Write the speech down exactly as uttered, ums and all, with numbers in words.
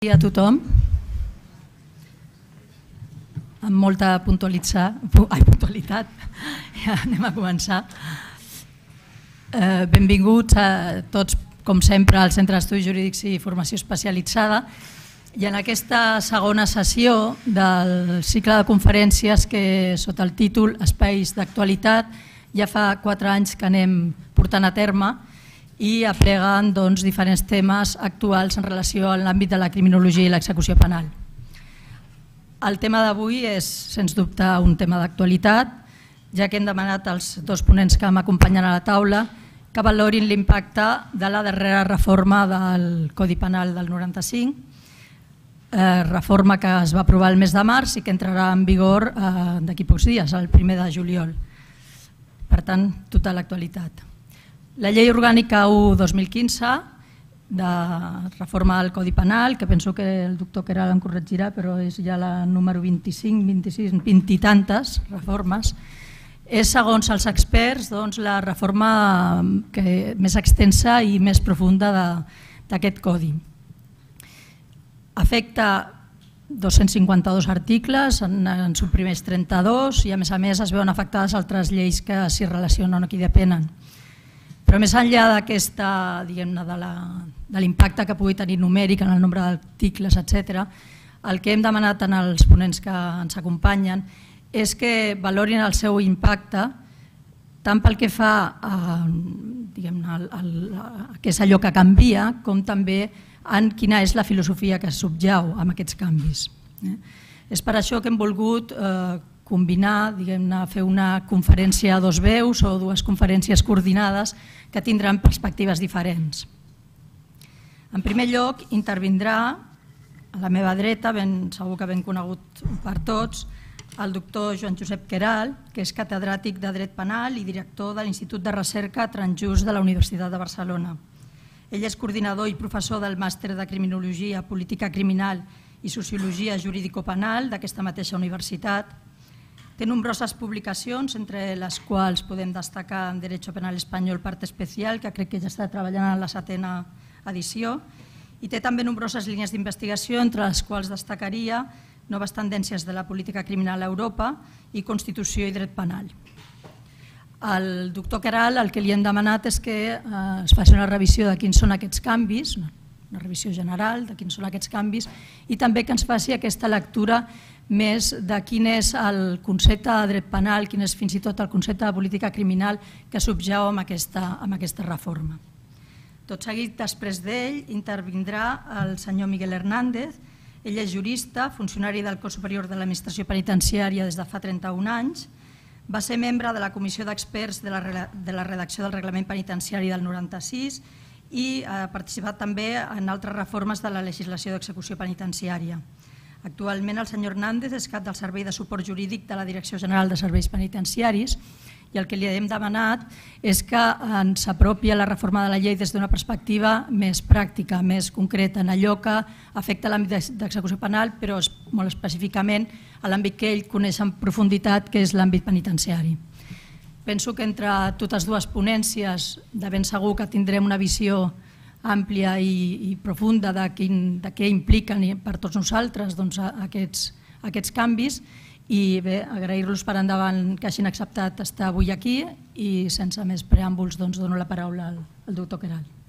A tothom, amb molta puntualitat, ja anem a començar. Benvinguts a tots, com sempre, al Centre d'Estudis Jurídics i Formació Especialitzada, i en aquesta segona sessió del cicle de conferències que, sota el títol Espais d'actualitat, ja fa quatre anys que anem portant a terme i apleguen diferents temes actuals en relació a l'àmbit de la criminologia i l'execució penal. El tema d'avui és, sens dubte, un tema d'actualitat, ja que hem demanat als dos ponents que m'acompanyen a la taula que valorin l'impacte de la darrera reforma del Codi Penal del noranta-cinc, reforma que es va aprovar el mes de març i que entrarà en vigor d'aquí pocs dies, el primer de juliol. Per tant, tota l'actualitat. La llei orgànica u dos mil quinze de reforma del Codi Penal, que penso que el doctor Queralt em corregirà, però és ja la número vint-i-cinc, vint-i-sis, vint i tantes reformes, és, segons els experts, la reforma més extensa i més profunda d'aquest codi. Afecta dos-cents cinquanta-dos articles, en suprimeix trenta-dos i a més a més es veuen afectades altres lleis que s'hi relacionen o que hi depenen. Però més enllà d'aquesta, diguem-ne, de l'impacte que pugui tenir numèric en el nombre d'articles, etcètera, el que hem demanat als ponents que ens acompanyen és que valorin el seu impacte tant pel que fa a què és allò que canvia, com també en quina és la filosofia que subjau amb aquests canvis. És per això que hem volgut combinar, fer una conferència a dos veus o dues conferències coordinades que tindran perspectives diferents. En primer lloc, intervindrà a la meva dreta, segur que ben conegut per tots, el doctor Joan Josep Queralt, que és catedràtic de Dret Penal i director de l'Institut de Recerca Transjust de la Universitat de Barcelona. Ell és coordinador i professor del Màster de Criminologia, Política Criminal i Sociologia Jurídico-Penal d'aquesta mateixa universitat. Té nombroses publicacions, entre les quals podem destacar en Derecho Penal Espanyol Parte Especial, que crec que ja està treballant en la setena edició, i té també nombroses línies d'investigació, entre les quals destacaria Noves tendències de la política criminal a Europa i Constitució i dret penal. Al doctor Queralt el que li hem demanat és que es faci una revisió de quins són aquests canvis, una revisió general de quins són aquests canvis, i també que ens faci aquesta lectura més de quin és el concepte de dret penal, quin és fins i tot el concepte de política criminal que subjau amb aquesta reforma. Tot seguit, després d'ell, intervindrà el senyor Miguel Hernández. Ell és jurista, funcionari del Cos Superior de l'Administració Penitenciària des de fa trenta-un anys, va ser membre de la Comissió d'Experts de la redacció del Reglament Penitenciari del noranta-sis i ha participat també en altres reformes de la legislació d'execució penitenciària. Actualment el senyor Hernández és cap del Servei de Suport Jurídic de la Direcció General de Serveis Penitenciaris i el que li hem demanat és que ens apropi a la reforma de la llei des d'una perspectiva més pràctica, més concreta, en allò que afecta l'àmbit d'execució penal, però molt específicament a l'àmbit que ell coneix en profunditat, que és l'àmbit penitenciari. Penso que entre totes dues ponències de ben segur que tindrem una visió àmplia i profunda de què impliquen per tots nosaltres aquests canvis i bé, agrair-los per endavant que hagin acceptat estar avui aquí i sense més preàmbuls dono la paraula al doctor Queralt.